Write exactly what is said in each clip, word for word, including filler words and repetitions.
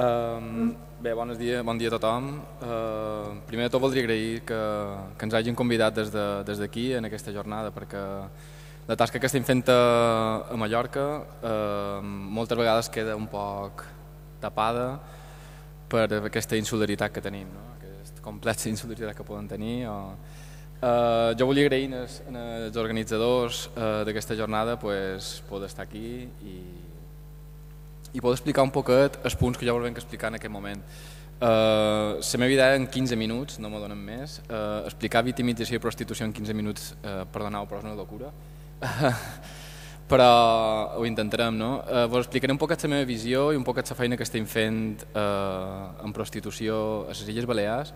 Um, bé, bon dia, bon dia a tothom. Uh, primer de tot voldria agrair que, que ens hagin convidat des d'aquí de, en aquesta jornada, perquè la tasca que estem fent a, a Mallorca uh, moltes vegades queda un poc tapada per aquesta insularitat que tenim, no? Aquesta complexa insularitat que poden tenir. O, uh, jo volia agrair als, als organitzadors uh, d'aquesta jornada pues, poder estar aquí i i poder explicar un poquet els punts que jo volia explicar en aquest moment. Uh, la meva idea en quinze minuts, no me donen més, uh, explicar victimització i prostitució en quinze minuts, uh, perdoneu, però és una locura, però ho intentarem, no? Uh, vos explicaré un poquet la meva visió i un poquet la feina que estem fent uh, en prostitució a les Illes Balears,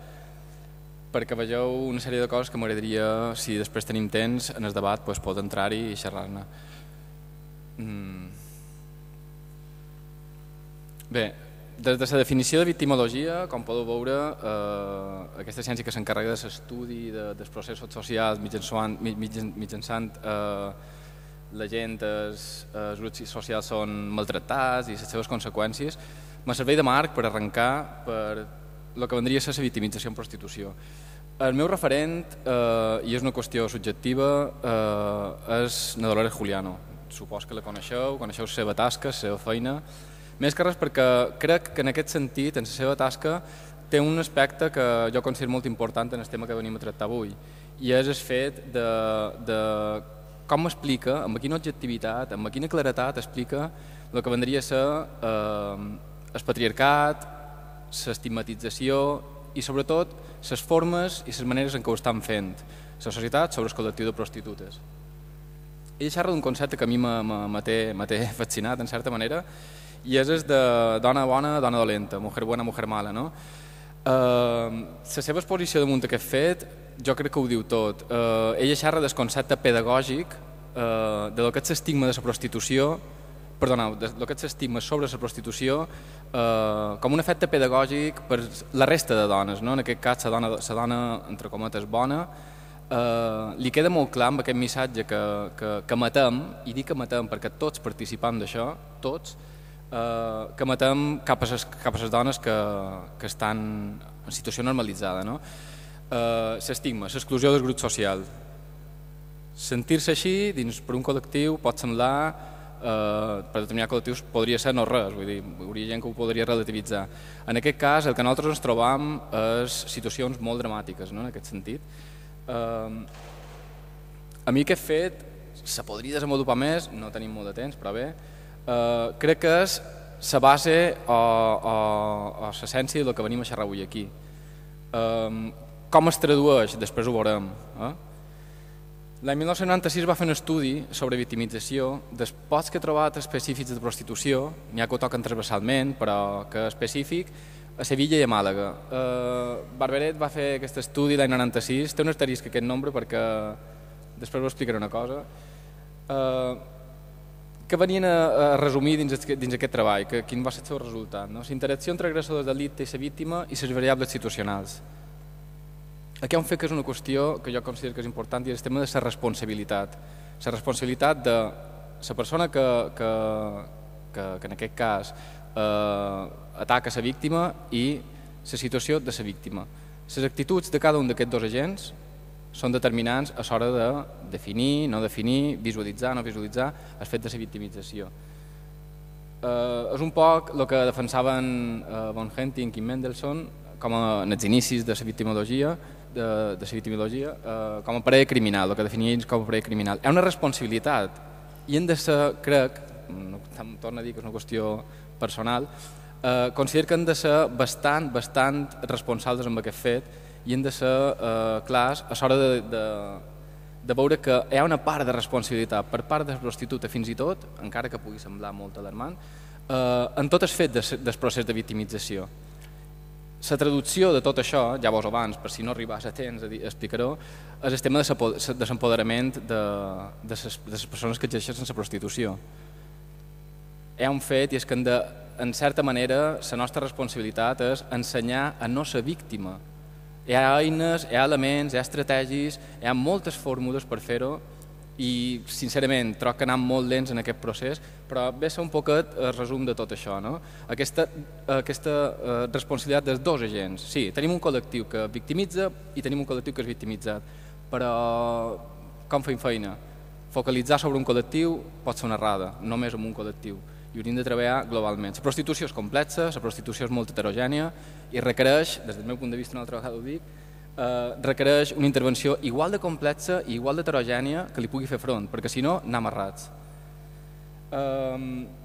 perquè vegeu una sèrie de coses que m'agradaria, si després tenim temps en el debat, pues, poder entrar-hi i xerrar-ne. Mm. Bé, des de la definició de victimologia, com podeu veure, eh, aquesta ciència que s'encarrega de l'estudi de, dels processos socials mitjançant, mitjançant eh, la gent, els, els grups socials són maltractats i les seves conseqüències, me serveix de marc per arrencar per el que vendria a ser la victimització en prostitució. El meu referent, eh, i és una qüestió subjectiva, eh, és na Dolores Juliano. Supos que la coneixeu, coneixeu la seva tasca, la seva feina. Més que res perquè crec que en aquest sentit, en la seva tasca, té un aspecte que jo considero molt important en el tema que venim a tractar avui, i és el fet de, de com explica, amb quina objectivitat, amb quina claretat explica el que vendria a ser eh, el patriarcat, l'estigmatització i sobretot les formes i les maneres en què ho estan fent la societat sobre el col·lectiu de prostitutes. Ell xerra d'un concepte que a mi m'ha té fascinat, en certa manera, i és el de dona bona, dona dolenta, mujer buena, mujer mala, no? Uh, la seva exposició damunt d'aquest fet jo crec que ho diu tot. Uh, ella xerra del concepte pedagògic uh, de lo que és l'estigma de la prostitució, perdoneu, de lo que és l'estigma sobre la prostitució uh, com un efecte pedagògic per la resta de dones, no? En aquest cas la dona, la dona entre cometes bona, uh, li queda molt clar amb aquest missatge que, que, que matem, i dic que matem perquè tots participem d'això, tots, Uh, que matem cap a les, cap a les dones que, que estan en situació normalitzada, no? Uh, l'estigma, l'exclusió del grup social. Sentir-se així dins per un col·lectiu pot semblar, uh, per determinats col·lectius podria ser no res, vull dir, hi hauria gent que ho podria relativitzar. En aquest cas el que nosaltres ens trobam és situacions molt dramàtiques, no? En aquest sentit. Uh, a mi aquest fet se podria desenvolupar més, no tenim molt de temps, però bé, Uh, crec que és la base o, o, o l'essència del que venim a xerrar avui aquí. Um, com es tradueix? Després ho veurem. Eh? L'any mil nou-cents noranta-sis va fer un estudi sobre victimització dels pocs que he trobat específics de prostitució, n'hi ha que ho toquen transversalment, però que específic, a Sevilla i a Màlaga. Uh, Barberet va fer aquest estudi l'any noranta-sis, té un asterisc aquest nombre perquè després vos explicaré una cosa. Uh, que venien a, a resumir dins, dins aquest treball, que, quin va ser el seu resultat. No? La interacció entre agressors d'elit i la víctima i les variables situacionals. Aquí hi ha un fet que és una qüestió que jo considero que és important i és el tema de la responsabilitat. La responsabilitat de la persona que, que, que, que en aquest cas eh, ataca la víctima i la situació de la víctima. Les actituds de cada un d'aquests dos agents són determinants a l'hora de definir, no definir, visualitzar, no visualitzar el fet de la victimització. Eh, és un poc el que defensaven eh, von Henting i Mendelssohn com a, en els inicis de la victimologia, de, de la victimologia eh, com a parella criminal, el que definia ells com a parella criminal. Hi ha una responsabilitat i hem de ser, crec, no, torno a dir que és una qüestió personal, eh, considero que hem de ser bastant, bastant responsables amb aquest fet i hem de ser eh, clars a l'hora de, de, de veure que hi ha una part de responsabilitat per part de la prostituta fins i tot, encara que pugui semblar molt alarmant, eh, en tot el fet de, del procés de victimització. La traducció de tot això, ja vos abans, per si no arribàs a temps, explicaré, és el tema de l'empoderament de, de, les, de les persones que exerceixen la prostitució. Hi ha un fet i és que, de, en certa manera, la nostra responsabilitat és ensenyar a no ser víctima. Hi ha eines, hi ha elements, hi ha estratègies, hi ha moltes fórmules per fer-ho i sincerament troc que anem molt lents en aquest procés, però ve a ser un poquet el resum de tot això, no? Aquesta, aquesta uh, responsabilitat dels dos agents. Sí, tenim un col·lectiu que victimitza i tenim un col·lectiu que és victimitzat, però com fem feina? Focalitzar sobre un col·lectiu pot ser una errada, només en un col·lectiu, i hauríem de treballar globalment. La prostitució és complexa, la prostitució és molt heterogènia i requereix, des del meu punt de vista, una altra vegada ho dic, Eh, requereix una intervenció igual de complexa i igual d'heterogènia que li pugui fer front, perquè si no, anem errats. Eh,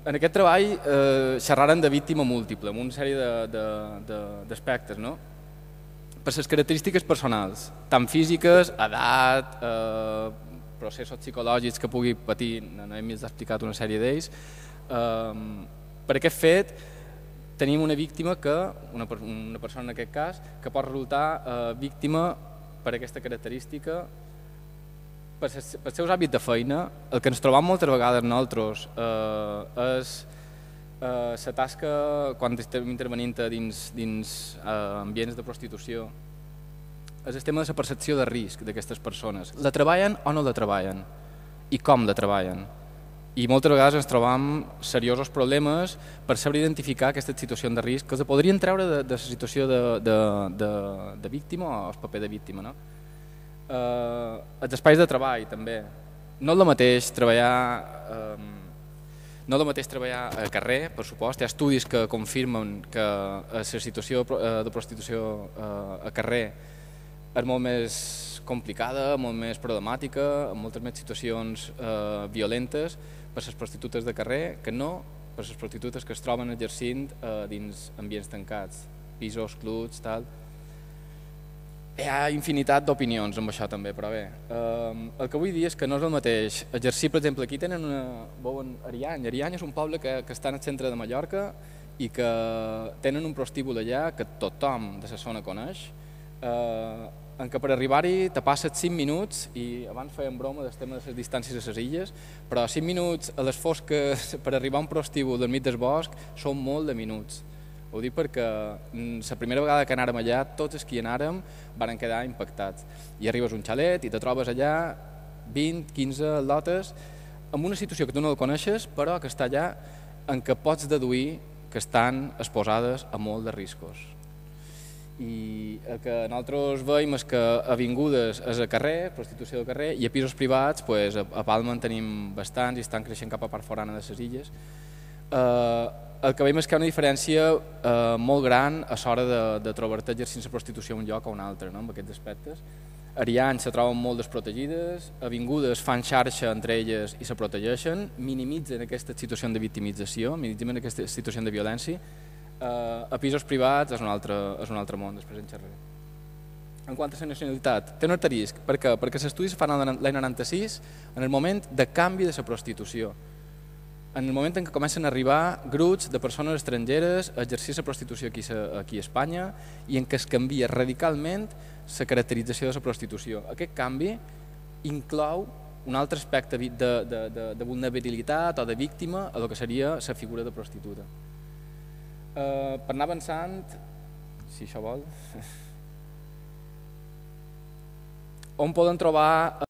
en aquest treball eh, xerraren de víctima múltiple, amb una sèrie d'aspectes, no? Per les característiques personals, tant físiques, edat, eh, processos psicològics que pugui patir, n'hem explicat una sèrie d'ells. Eh, per aquest fet, tenim una víctima, que una, una persona en aquest cas, que pot resultar eh, víctima per aquesta característica, per ses, pels seus hàbits de feina. El que ens trobam moltes vegades nosaltres eh, és eh, la tasca, quan estem intervenint dins, dins eh, ambients de prostitució, és el tema de la percepció de risc d'aquestes persones. La treballen o no la treballen? I com la treballen? I moltes vegades ens trobam seriosos problemes per saber identificar aquestes situacions de risc que els podrien treure de, de la situació de, de, de, de víctima o el paper de víctima. No? Eh, els espais de treball també. No és el mateix treballar, eh, no és el mateix treballar a carrer, per supost. Hi ha estudis que confirmen que la situació de prostitució a carrer és molt més complicada, molt més problemàtica, amb moltes més situacions eh, violentes per les prostitutes de carrer que no per les prostitutes que es troben exercint eh, dins ambients tancats, pisos, clubs, tal. Hi ha infinitat d'opinions amb això també, però bé. Eh, el que vull dir és que no és el mateix exercir, per exemple, aquí tenen una... veuen Ariany. Ariany és un poble que, que està en el centre de Mallorca i que tenen un prostíbul allà que tothom de la zona coneix, eh, en què per arribar-hi te passes cinc minuts, i abans fèiem broma del tema de les distàncies a les illes, però cinc minuts a les fosques per arribar a un prostíbul del mig del bosc són molt de minuts. Ho dic perquè la primera vegada que anàrem allà, tots els que hi anàrem van quedar impactats. I arribes a un xalet i te trobes allà vint, quinze lotes amb una situació que tu no la coneixes, però que està allà en què pots deduir que estan exposades a molt de riscos. I el que nosaltres veiem és que avingudes és a carrer, prostitució de carrer, i a pisos privats, pues, a Palma en tenim bastants i estan creixent cap a part forana de les illes. Eh, el que veiem és que hi ha una diferència eh, molt gran a l'hora de, de trobar-te exercint la prostitució en un lloc o un altre, no? En aquests aspectes. Ariany se troben molt desprotegides, avingudes fan xarxa entre elles i se protegeixen, minimitzen aquesta situació de victimització, minimitzen aquesta situació de violència. Uh, a pisos privats és un altre, és un altre món, després en xerraré. En quant a la nacionalitat, té un altre risc. Per què? Perquè l'estudi es fan l'any noranta-sis, en el moment de canvi de la prostitució. En el moment en què comencen a arribar grups de persones estrangeres a exercir la prostitució aquí, aquí a Espanya i en què es canvia radicalment la caracterització de la prostitució. Aquest canvi inclou un altre aspecte de, de, de, de vulnerabilitat o de víctima a el que seria la figura de prostituta. Uh, per anar avançant, si això vol, on poden trobar